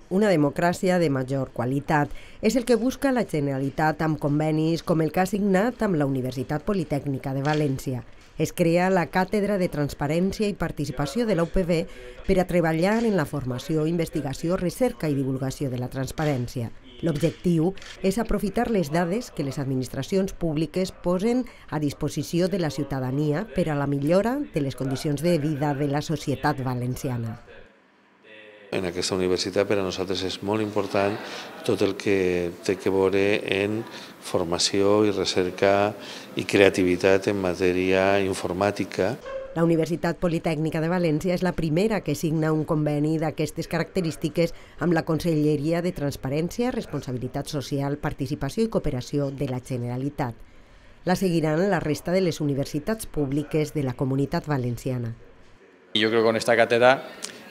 Una democràcia de major qualitat és el que busca la Generalitat amb convenis com el que ha signat amb la Universitat Politècnica de València. Es crea la Càtedra de Transparència i Participació de la UPV per a treballar en la formació, investigació, recerca i divulgació de la transparència. L'objectiu és aprofitar les dades que les administracions públiques posen a disposició de la ciutadania per a la millora de les condicions de vida de la societat valenciana. En aquesta universitat per a nosaltres és molt important tot el que té a veure en formació i recerca i creativitat en matèria informàtica. La Universitat Politècnica de València és la primera que signa un conveni d'aquestes característiques amb la Conselleria de Transparència, Responsabilitat Social, Participació i Cooperació de la Generalitat. La seguiran la resta de les universitats públiques de la Comunitat Valenciana. Yo creo que con esta cátedra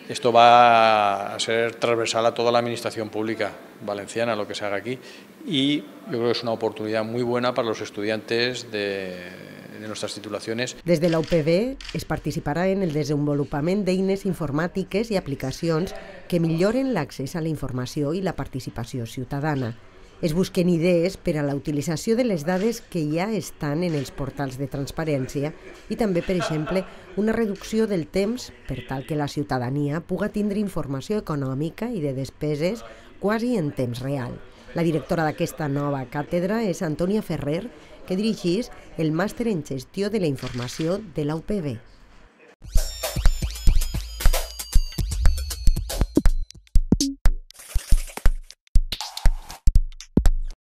esto va a ser transversal a toda la administración pública valenciana, lo que se haga aquí, y yo creo que es una oportunidad muy buena para los estudiantes de nuestras titulaciones. Des de la UPV es participarà en el desenvolupament d'eines informàtiques i aplicacions que milloren l'accés a la informació i la participació ciutadana. Es busquen idees per a la utilització de les dades que ja estan en els portals de transparència i també, per exemple, una reducció del temps per tal que la ciutadania puga tindre informació econòmica i de despeses quasi en temps real. La directora d'aquesta nova càtedra és Antònia Ferrer, que dirigeix el màster en gestió de la informació de la UPV.